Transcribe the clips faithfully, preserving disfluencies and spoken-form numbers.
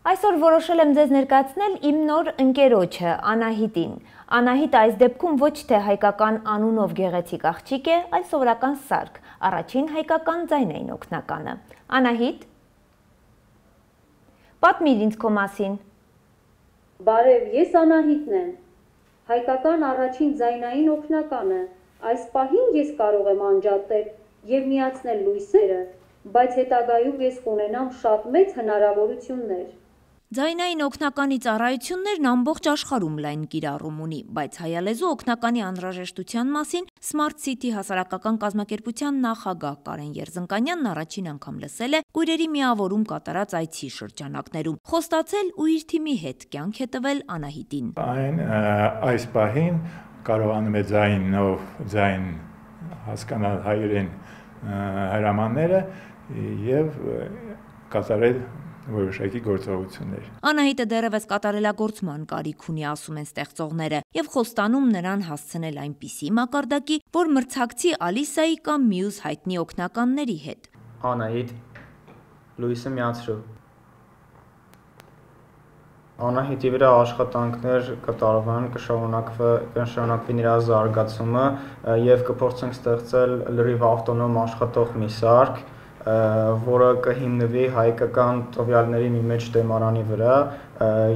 Այսօր որոշել եմ ձեզ ներկայացնել իմ նոր ընկերոջը Անահիտին։ Անահիտը այս դեպքում ոչ թե հայկական անունով գեղեցիկ աղջիկ է, այլ սովորական սարք, առաջին հայկական ձայնային օգնականը։ Անահիտ, պատմիր ինձ քո մասին։ Բարև, ես Անահիտն եմ, հայկական առաջին ձայնային օգնականը։ Այս պահին ես կարող եմ անջատել և միացնել լույսերը, բայց հետագայում ես կունենամ շատ մեծ հնարավորություններ։ Ձայնային օգնականի ծառայություններն ամբողջ աշխարհում լայն կիրառում ունի, բայց հայալեզու օգնականի անհրաժեշտության մասին Smart City հասարակական կազմակերպության նախագահ Կարեն Երզնկանյանն առաջին անգամ լսել է կույրերի միավորում կատարած այցի շրջանակներում։ Խոստացել ու իր թիմի հետ կյանք է տվել Անահիտին։ Այն այս պահին կարողանում է ձայնով ձայն հասկանալ հայերեն հրամանները և կատարել որոշակի գործողություններ։ Անահիտը դեռևս կատարելագործման կարիք ունի, ասում են ստեղծողները, եւ խոստանում նրան հասցնել այնպիսի մակարդակի, որ մրցակցի Ալիսայի կամ մյուս հայտնի օգնականների հետ։ Անահիտ, լույսը միացրու։ Անահիտի վրա աշխատանքներ կատարվեն, կշարունակվի նրա զարգացումը եւ կփորձենք ստեղծել լրիվ ավտոնոմ աշխատող մի սարք, որը կհիմնվի հայկական տվյալների մի մեծ դեմարանի վրա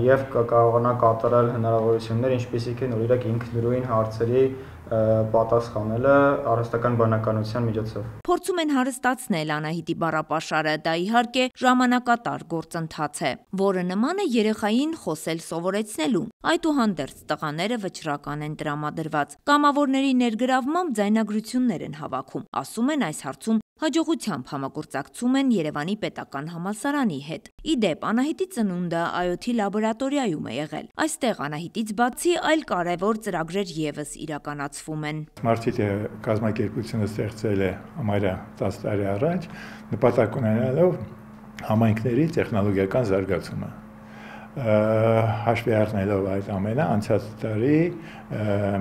եւ կկարողանա կատարել հնարավորություններ, ինչպիսիք են օրինակ ինքնուրույն հարցերի պատասխանելը առհասարակական բանականության միջոցով։ Փորձում են հարստացնել Անահիտի բառապաշարը, դա իհարկե ժամանակատար գործընթաց է, որը նման է երեխային խոսել սովորեցնելուն։ Այդուհանդերձ տղաները վճռական են տրամադրված, կամավորների ներգրավմամբ ձայնագրություններ են հավաքում, ասում են այս հարցում հաջողությամբ համագործակցում են Երևանի պետական համալսարանի հետ։ Ի դեպ, Անահիտի ծնունդը Այ Օ Թ լաբորատորիայում է եղել։ Այստեղ Անահիտից բացի այլ կարևոր ծրագրեր ևս իրականացվում են։ Smart City կազմակերպությունը ստեղծել է համարյա տասը տարի առաջ, նպատակ ունենալով համայնքների տեխնոլոգիական զարգացումը։ Հաշվի առնելով այդ ամենը, անցած տարի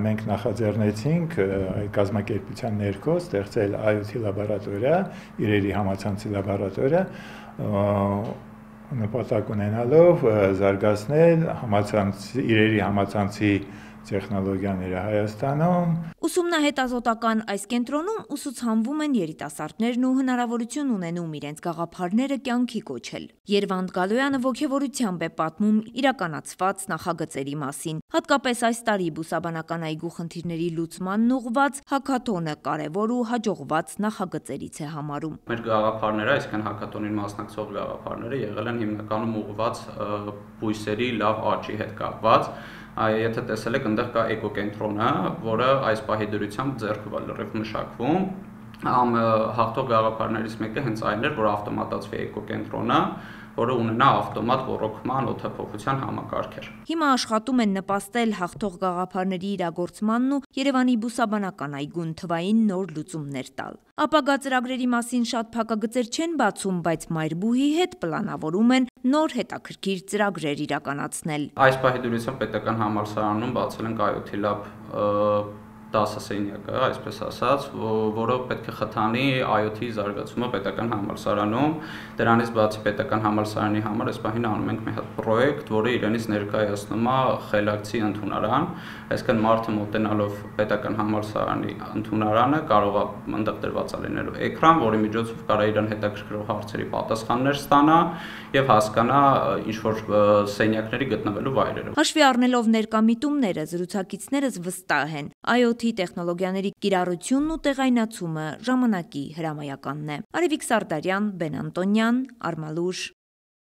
մենք նախաձեռնեցինք կազմակերպության ներքո ստեղծել Այ Օ Թ լաբորատորիա, իրերի համացանցի լաբորատորիա, նպատակ ունենալով զարգացնել իրերի համացանցի տեխնոլոգիաները Հայաստանում։ Ուսումնահետազոտական այս կենտրոնում ուսուցանվում են երիտասարդներն ու հնարավորություն ունենում իրենց գաղափարները կյանքի կոչել։ Երվանդ Գալոյանը ոգևորությամբ է պատմում իրականացված նախագծերի մասին։ Հատկապես այս տարի բուսաբանական այգու խնդիրների լուծմանն ուղղված հաքաթոնը կարևոր ու հաջողված նախագծերից է համարում։ Մեր գաղափարները, այսինքն հաքաթոնին մասնակցող գաղափարները եղել են հիմնականում ուղղված բույսերի լավ աճի հետ կապված։ Եթե տեսել եք, այնտեղ կա էկոկենտրոնը, որը այս պահի դրությամբ ձեռքը լրիվ մշակվում։ Հաղթող գաղափարներից մեկը հենց այն էր, որ ավտոմատացվի էկոկենտրոնը, որը ունենա ավտոմատ ոռոգման օդափոխության համակարգեր։ Հիմա աշխատում են նպաստել հաղթող գաղափարների իրագործմանն ու Երևանի բուսաբանական այգուն թվային նոր լուծումներ տալ։ Ապագա ծրագրերի մասին շատ փակագծեր չեն բացում, բայց Մայրբուհի հետ պլանավորում են նոր հետաքրքիր ծրագրեր իրականացնել։ Այս պահի դրությամբ պետական համալսարանում բացել են Այ Օ Թ Lab տասը սենյակը, այսպես ասած, որը պետք է խթանի Այ Օ Թ զարգացումը պետական համալսարանում։ Դրանից բացի պետական համալսարանի համար այս պահին անում ենք մի հատ պրոյեկտ, որը իրենից ներկայացնում է խելացի ընդունարան, այսինքն մարդը մոտենալով պետական համալսարանի ընդունարանը կարող է այնտեղ դրված լինելու էկրան, որի միջոցով կարող է իրան հետաքրքրող հարցերի պատասխաններ ստանա եւ հասկանա ինչ-որ սենյակների գտնվելու վայրերը։ Հաշվի առնելով ներկա միտումները, զրուցակիցներս վստահ են, Այ Օ Թ տեխնոլոգիաների կիրառությունն ու տեղայնացումը ժամանակի հրամայականն է։ Արևիկ Սարդարյան, Բեն Անտոնյան, Արմալուշ։